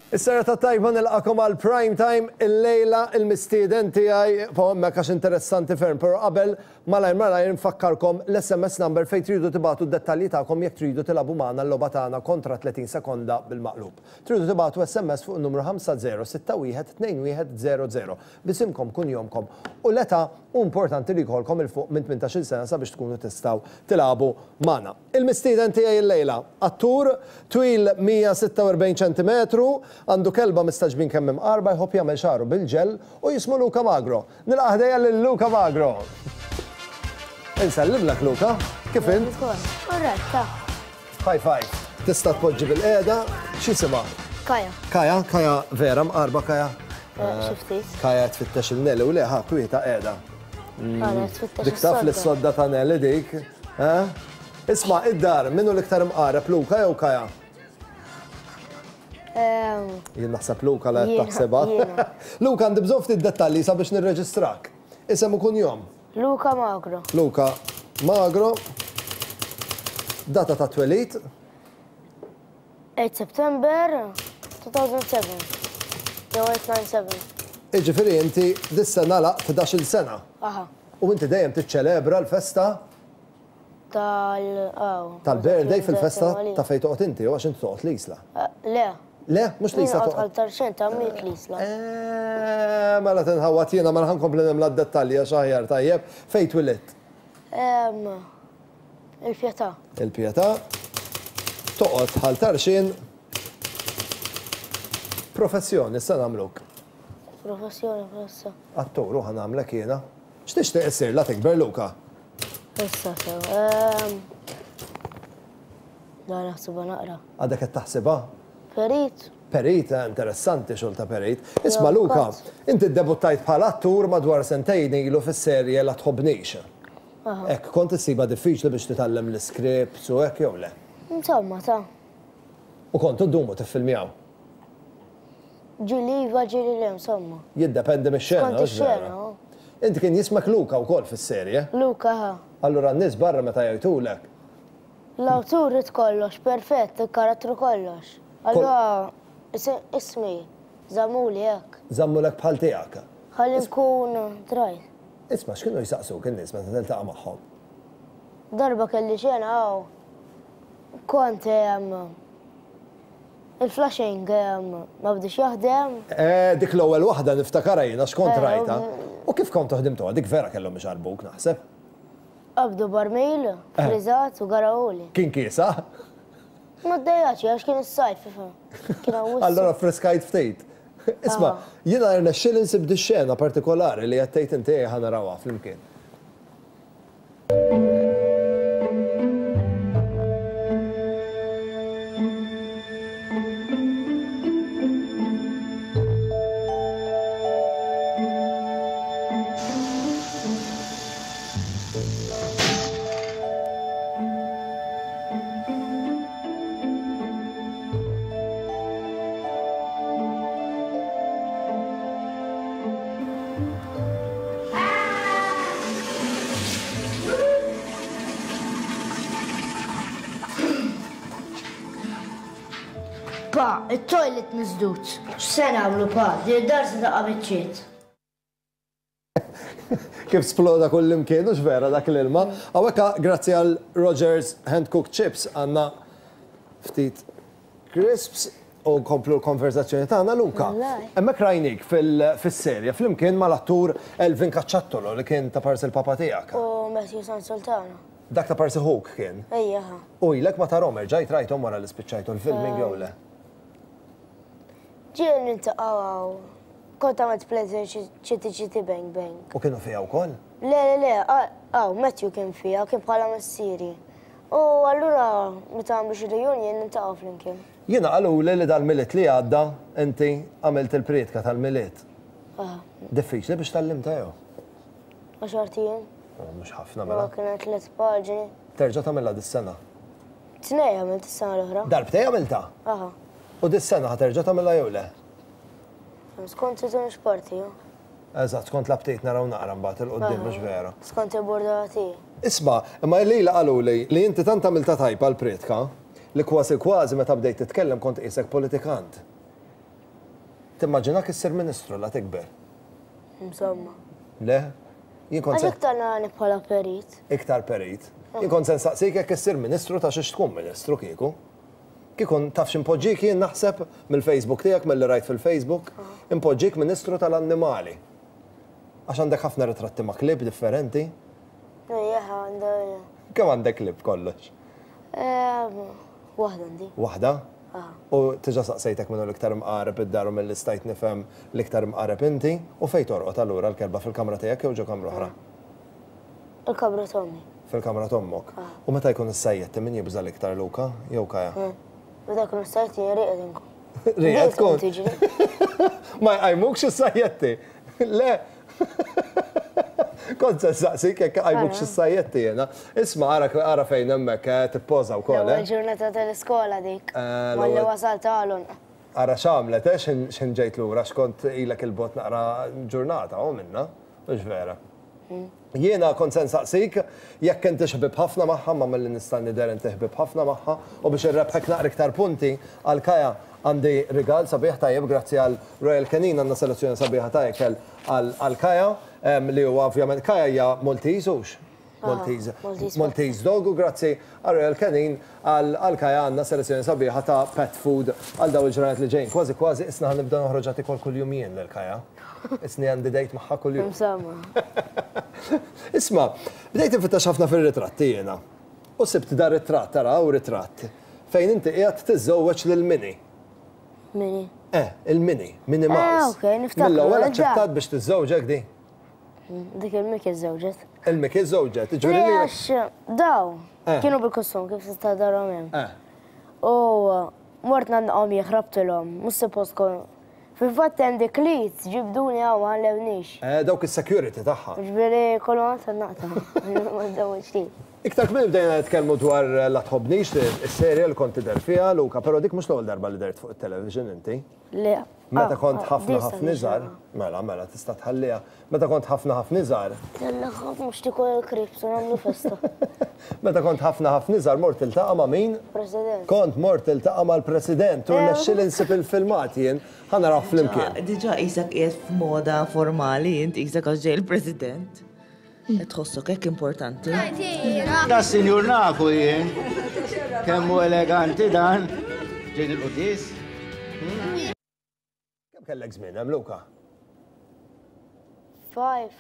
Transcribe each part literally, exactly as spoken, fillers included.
Is-serata tajba, nilqagħkom għal Prime Time. Illejla il-mistieden tiegħi hemmhekk għax interessanti ferm, però qabel, malajr malajr nfakkarkom l-S M S number fejn tridu tibagħtu d-dettalji tagħkom jekk tridu tilagħbu magħna l-logħba tagħna kontra tletin sekonda bil-maqlub. Tridu tibagħtu S M S fuq in-numru ħamsa żero sitta wieħed tnejn wieħed żero żero b'isimkom, kunjomkom u l-età, u importanti li jkollkom 'il fuq minn tmintax-il sena sabiex tkunu tistgħu tilagħbu magħna. Il-mistieden tiegħi illejla, attur twil mija u sitta u erbgħin ċentimetru, għandu kelba mistagħġbin kemm imqarba, jħobb jagħmel xagħru bil-ġel u jismu Luca Magro. Nilqa' ħdejja lil Luca Magro. Insellimlek, Luca, kif int? Korretta. High five. Tista' tpoġġi bilqiegħda, x'jisimha? Kaja. Kaja, Kaja vera mqarba Kaja. Eh, xi ftit. Kaja tfittex lil Nelly u leħa kwieta qiegħda. Għara, tfittex Dik taf li is-sodda. S-sodda ta' Nelly dik. Eh? Isma', id-dar, min hu l-iktar imqareb, Luca jew Kaja? Ehm, Jien naħseb Luca la Jiena, taħsebha. Jiena. Luca, għandi bżonn ftit dettalji sabiex nirreġistrak. Isem u kunjom. Luca Magro. Luca Magro. Data ta' twelid. eight September two thousand seven. Jew eight nine seven. Iġifieri inti dis-sena għalaqt ħdax-il sena. Aha. U inti dejjem tiċċelebra l-festa Tal... Aw. tal-birthday fil-festa ta' fejn toqgħod inti, u għax inti toqgħod l-Isla. Eh, Le. Le, mhux l-Isla Jien toqgħod. Ħal Tarxien ta' miet l-Isla. Eh, mela tinħawat jiena, mela ħa nkompli nimla d-dettalji għax aħjar tajjeb. Fejn twilidt? Ehm, Il-Pietà. Il-Pietà. Toqgħod Ħal Tarxien. Professjoni, issa nagħmluk. Professjoni issa. Attur, u ħa nagħmlek jiena. X'tixtieq issir la tikber, Luca? Issa sew. Ehm, Da naħsibha naqra. Għadek qed taħsibha? Perit. Perit, eh, interessanti xogħol ta' perit. Isma' Ja, Luca, kat. inti ddebuttajt bħala attur madwar sentejn ilu fis-serje La Tħobbnix. Ek, kont issibha diffiċli biex titgħallem l-scripts u hekk jew le? Insomma, ta' U kontu ddumu tiffilmjaw? Ġieli iva, ġieli le, insomma. Jiddependi mix-xena, Skont hux vera? ix-xena, oh. Inti kien jismek Luca wkoll fis-serje. Luca, ha. Allura n-nies barra meta jgħidulek, L-awtur rid kollox, perfett, il-karattru kollox. Allura, is- ismi, żammuli hekk. Żammulek bħal tiegħek. Ħalli nkun drajt. Isma', x'kienu jsaqsuk in-nies meta tiltaqa' magħhom? Darba kelli xena għaw. Kont em, il-flashing em, ma bdiex jaħdem. Eh, dik l-ewwel waħda niftakarha jiena x'kont Eh, rajta. U kif kont ħdimtuha? Dik vera kellhom ixarbuk, naħseb. Qabdu barmil, friżat u garawuli. Kien kiesa? Ma ddejjaċ, għax kien is-sajf, ifhem. Kien hawn Allora friskajt ftit. Isma', jiena rnexxieli nsib di xena partikolari li qed tgħid inti, ħa narawha flimkien. Pa, il-toilet misdud. X'se nagħmlu, pa? Di dar se taqa' biċċiet. Kif sploda kull imkien, hux vera, dak l-ilma? Hawnhekk, grazzi għal Rogers Hand Cooked Chips, għandna ftit crisps u nkomplu l-konverzazzjoni tagħna, Luca. Wallahi. Hemmhekk rajnik fil-serja flimkien mal-attur Elvin Cacciattolo li kien ta' parsi l-papa tiegħek. U Matthew San Sultano. Dak ta' parsi ħuk kien. Ejja, ha. U ilek ma tarahom, erġajt rajthom wara li spiċċajtu l-filming jew le? Ġieli niltaqgħu għaw. Kont għamilt pleasure Chitty Chitty Bang Bang. U kienu fiha wkoll? Le, le, le, għaw, Matthew kien fija, kien bħala missieri. U allura, meta għamlu xi reunion, niltaqgħu flimkien. Jiena qaluli li dal-Milied li għadda inti għamilt il-prietka tal-Milied. Ah, Diffiċli biex tgħallimtha jew? Għaxart ijiem. Oh, mhux ħafna Ma mela. kienet tliet paġni. Terġa' tagħmilha dis-sena? Tnejn għamilt is-sena l-oħra. Darbtejn għamilta? Aha. U dis-sena ħa terġa' tagħmilha jew le? Skont itunix parti, jo. Eżatt, skont l-aptit, naraw naqra mbagħad 'il quddiem, mhux vera? Skont il-bordati. Isma', imma lili qaluli li inti tant għamilta tajba l-prietka li kważi kważi meta bdejt titkellem kont qisek politikant. Timmaġinak issir ministru la tikber? Insomma. Le? Jien kont Għax iktar narani bħala perit. Iktar perit. Jien kont se nsaqsik jekk issir ministru ta' xiex tkun ministru kieku. Kieku taf x'impoġġik jien naħseb mill-Facebook tiegħek, milli rajt fil-Facebook, impoġġik ministru tal-annimali. Għax għandek ħafna ritratti ma' klieb differenti. Ejja, għandha. Kemm għandek klieb kollox? Waħda għandi. Waħda? U diġà saqsejtek minnu l-iktar mqareb id-dar u mill stajt nifhem l-iktar mqareb inti, u fejn torqod allura l-kelba, fil-kamra tiegħek jew ġo kamra oħra? Il-kamra t'ommi. Fil-kamra t'ommok. U meta jkun is-sajjetti, min jibża l-iktar, Luka jew Kaja? Meta jkun is-sajjetti jien rieqed inkun. Rieqed tkun? Ma jqajmukx is-sajjetti? Le. Kont se nsaqsik jekk qajmukx is-sajjetti jiena. Isma', ara ara fejn hemmhekk tippoża wkoll. L-ewwel ġurnata tal-iskola dik. Malli wasalt għalun. Ara x'għamlet, eh, x'ħin ġejt lura, x'kont ilek il-bot naqra ġurnata, u minna, mhux vera? Jiena kont se nsaqsik jekk inti ħbib ħafna magħha, ma milli nista' nidher inti ħbib ħafna magħha, u biex irrebħek naqra iktar punti għal Kaja għandi rigal sabiħ tajjeb grazzi għal Royal Canin, għandna selezzjoni sabiħa ta' ikel għal Kaja, li huwa ovvjament Kaja hija Maltese hux? Maltese. Maltese dog, u grazzi għal Royal Canin għal Kaja għandna selezzjoni sabiħa ta' pet food għal daw il-ġranet li ġejjin. Kważi kważi isna ħa nibda noħroġ tikol kuljum jien lil Kaja. Isni għandi dejt magħha kuljum. Insomma. Isma', bdejt infittex ħafna fir-ritratti jiena. U sibt dar ritratt, tara u ritratt, fejn inti qiegħed tiżżewweġ lil Minnie. Minnie. Eh, il-Minnie, Minnie Mouse. Eh, ok, niftakru. Mill-ewwel aċċettat biex tiżżewġek di? Dik il-Mickey żewġet. Il-Mickey żewġet, ġifieri li. Għax daw, kienu bil-kostum kif tista' darhom hemm. U mort nagħnaqhom, ħrabtilhom, mhux suppost kon. Fil-fatt hemm dik li ġibduni hawn, ma ħallewniex. Eh, dawk is-security tagħha. Ġifieri kollu għand naqta. Ma żewġti. Iktar kmieni bdejna nitkellmu dwar La Tħobbnix, is-serje li kont tidher fiha, Luka, però dik mhux l-ewwel darba li dert fuq it-television inti. Le. Meta kont ħafna ħafna iżgħar, mela mela tista' tħalliha. Meta kont ħafna ħafna iżgħar. Jalla ħaf mhux tikol il-krips u nagħmlu festa. Meta kont ħafna ħafna iżgħar mort tiltaqa' ma' min? President. Kont mort tiltaqa' mal-President u rnexxieli nsib il-filmat jien, ħa naraw flimkien. Diġà qisek qiegħed f'moda formali, int qisek għax ġej il-President. Tħossok hekk importanti. Da sinjur nafu jien. Kemm hu eleganti dan. Ġejn il-qudis. Kemm kellek żmien hemm, Luka? Five.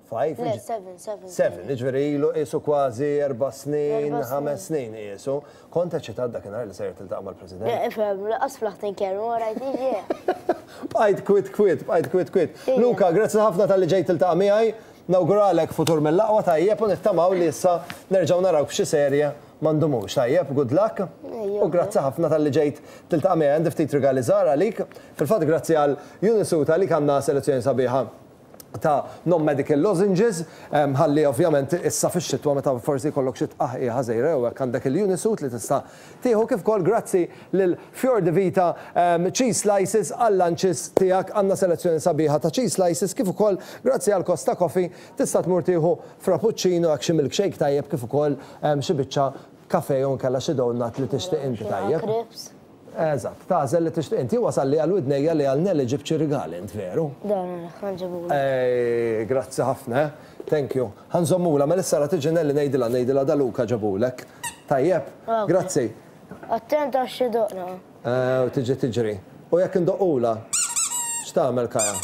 Five? Le, seven, seven. Seven, jiġifieri ilu qisu kważi erba' snin, Erba' snin. ħames snin qisu. Kont eċitat dakinhar li sejjer tiltaqa' mal-President? Le, ifhem, lanqas flaħt inkellmu, rajt iġi. Bqajt kwit kwit, bqajt kwit kwit. Ejja. Luka, grazzi ħafna talli ġejt tiltaqa' miegħi. Nawguralek futur mill-aqwa, tajjeb, u nittamaw li issa nerġgħu naraw f'xi serje ma ndumux. Tajjeb, good luck. Ejja. U grazzi ħafna talli ġejt tiltaqa' miegħi. Għandi ftit rigali żgħar għalik. Fil-fatt grazzi għal Unisut għalik għandna selezzjoni sabiħa ta' non-medical lozenges, em, ħalli ovvjament issa fix-xitwa meta forsi jkollok xi tqaħqiħa żgħira jew hekk għandek il-Unisut li tista' tieħu, kif ukoll grazzi lil Fior di Vita em, cheese slices għal-lunches tiegħek, għandna selezzjoni sabiħa ta' cheese slices, kif ukoll grazzi għal Costa Coffee tista' tmur tieħu frappuccino hekk, xi milkshake tajjeb, kif ukoll em, xi biċċa kafe jew nkella xi donut li tixtieq inti, tajjeb. Crepes. Eżatt, tagħżel li tixtieq inti. Wasal li għal widnejja li għal Nelly ġibt xi rigali int, veru? Dan, ħa nġibulu. Ej, grazzi ħafna, eh? Thank you. Ħa nżommula, ma issa tiġi Nelly ngħidilha ngħidilha da Luka ġabulek. Tajjeb, Ok. grazzi. Attent għax xi doqna. Eh, U tiġi tiġri. U jekk indoqqula, x'tagħmel Kaja?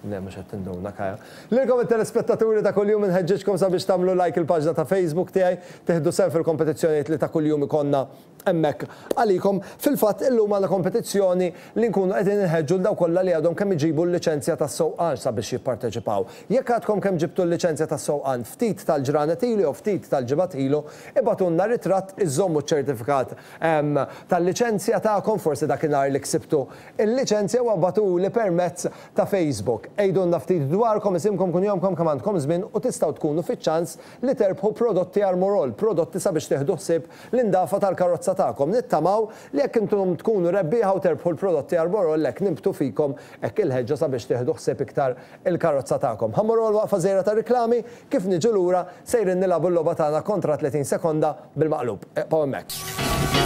Le, mhux qed tinduna Kaja. Lilkom it-telespettaturi ta' kuljum inħeġġeġkom sabiex tagħmlu like il-paġna ta' Facebook tiegħi, tieħdu sehem fil-kompetizzjonijiet li ta' kuljum ikollna hemmhekk għalikom. Fil-fatt illum għandna kompetizzjoni li nkunu qegħdin inħeġġu l dawk kollha li għadhom kemm iġibu l-liċenzja tas-sewqan sabiex jipparteċipaw. Jekk għadkom kemm ġibtu l-liċenzja tas-sewqan ftit tal-ġranet ilu jew ftit tal-ġimgħat ilu, ibagħtulna ritratt, iżommu ċ-ċertifikat em, tal-liċenzja tagħkom, forsi dakinhar li ksibtu il-liċenzja, u ibagħtuli permezz ta' Facebook. Għidulna ftit dwarkom, isimkom, kunjomkom, kemm għandkom żmien u tistgħu tkunu fiċ-ċans li terbħu prodotti Armorol, prodotti sabiex tieħdu ħsieb l-indafa tal-karozza tagħkom. Nittamaw li jekk intom tkunu rebbieħa u terbħu l-prodotti Armorol, lek nibtu fikom hekk il-ħeġġa sabiex tieħdu ħsieb iktar il-karozza tagħkom. Ħa mmorru waqfa żgħira ta' riklami, kif niġu lura sejrin nilagħbu l-logħba tagħna kontra tletin sekonda bil-maqlub. Ibqgħu hemmhekk.